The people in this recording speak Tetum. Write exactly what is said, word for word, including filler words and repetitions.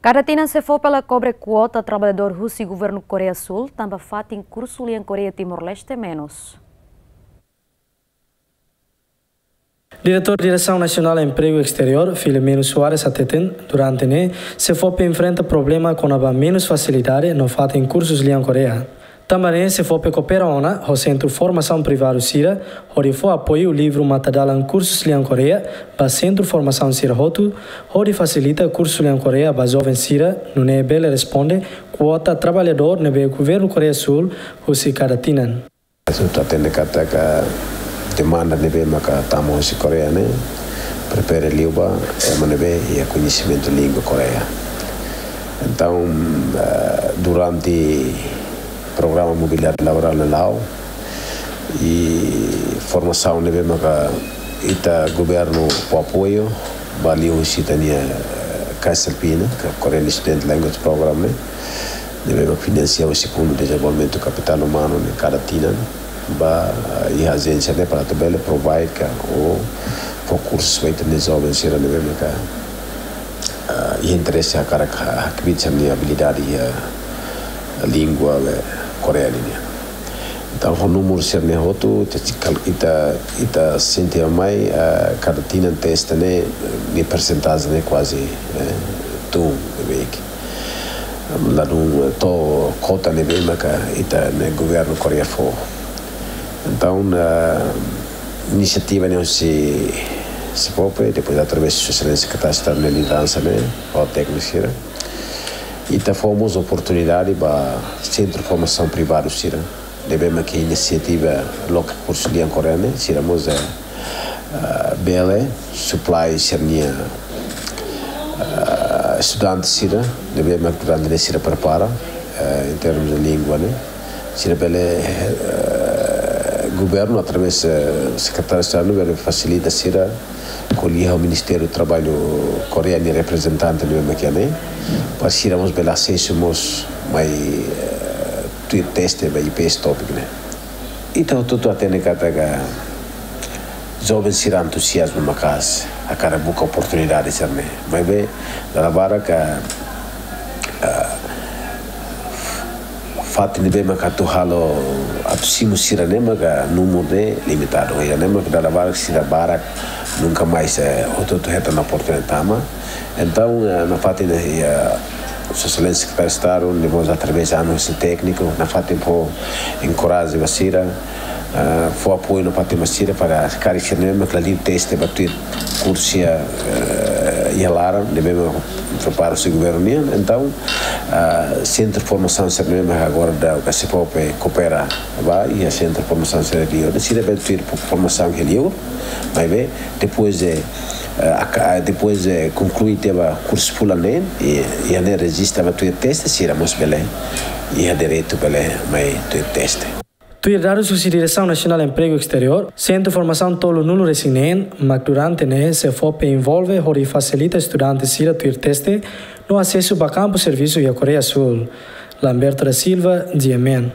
Kada tinan SEFOPE la kobre kuota traballadór husi governu Koreia Súl, tanba fatin kursu lian Koreia Timor-Leste menus. Diretór Diresaun Nasionál Empregu Esteriór, Filomeno Soares hateten, durante ne'e, SEFOPE enfrenta problema kona-ba menus fasilidade no fatin kursus lian Koreia. Tanba ne'e, SEFOPE koopera ona ho sentru formasaun privadu sira, hodi fó apoiu livru matadalan kursus lian Koreia ba sentru formasaun sira hotu, hodi fasilita kursu lian Koreia ba joven sira, nune'e bele responde kuota traballadór ne'ebé governu Koreia Súl husi kada tinan. Ita hatene katak demanda ne'ebé maka tama husi Koreia ne'e prefere liu ba ema ne'ebé iha koñesimentu língua Koreia. Entaun, eh, durante programa mobilidade laborál ne'e la'o, i formasaun ne'ebé maka ita governu fó apoiu ba liu husi ita-nia, eh, KSLP ne'e, ka Korean Student Language Program ne'e, ne'ebé maka finansia husi Fundu Dezenvolvimentu Kapitál Umanu ne'e kada tinan ba, eh, iha ajénsia ne'e para atu bele provide ka ou fó kursus ba ita-nia joven sira ne'ebé maka, eh, iha interese hakarak ha-, hakbiit sira-nia abilidade iha língua, eh, Koreia nian. Entaun, ho númeru sira-ne'e hotu, ita, ita, ita sente mai, eh, kada tinan teste ne'e, nia persentajen ne'e kuaze, eh, tun, ne'ebé ke ladún, eh, to'o kuota ne'ebé maka ita-nia governu Koreia fó. Entaun, eh, inisiativa ne'e husi SEFOPE, depois através de Sua Exelénsia Sekretáriu Estadu nia lideransa ne'e, ho tékniku sira. Ita fó mós oportunidade ba sentru formasaun privadu sira ne'ebé maka inisiativa loke kursu lian Koreia ne'e, sira mós, eh, eh, bele supply sira-nia, eh, estudante sira ne'ebé maka durante ne'e sira prepara, eh, em termos de língua ne'e. Sira bele, eh, governu através, eh, Sekretáriu Estadu bele fasilita sira ko'alia ho Ministériu Traballu Koreia nia reprezentante ne'ebé maka iha ne'e, para sira mós bele asesu mós mai, eh, tuir teste ba IPS topic ne'e. Ita hotu-hotu hatene katak joven sira entuziazmu maka'as hakarak buka oportunidade sira-ne'e. Maibé, dala barak, eh, fatin ne'ebé maka atu halo, atu simu sira-ne'e maka númeru ne'e limitadu. Iha ne'e maka dala barak sira barak nunka mais, eh, hotu-hotu hetan oportunidade tama. Entaun, eh, nafatin ne'e, eh, Sua Exelénsia Sekretáriu Estadu, ne'e mós através de anos tékniku, nafatin fó enkoraja ba sira, eh, fó apoiu nafatin ba sira para karik sira-ne'e maka la liu teste ba tuir kursu, eh, iha laran, ne'ebé maka prepara husi governu nian. Entaun, ah, sentru formasaun sira-ne'e maka agora daudaun SEFOPE koopera ba iha sentru formasaun sira liur. Sira bele tuir formasaun iha liur, maibé depois de, eh, aka-, depois de konklui tiha ba kursu fulan ne'e, i, iha ne'e rejista ba tuir teste, sira mós bele, iha direitu bele mai tuir teste. Tuir dadus husi Diresaun Nasionál Empregu Esteriór, sentru formasaun tolunulu-resin-neen mak durante ne'e SEFOPE envolve hodi fasilita estudante sira tuir teste no asesu ba kampu servisu iha Koreia Súl. Lamberto da Silva, GMN.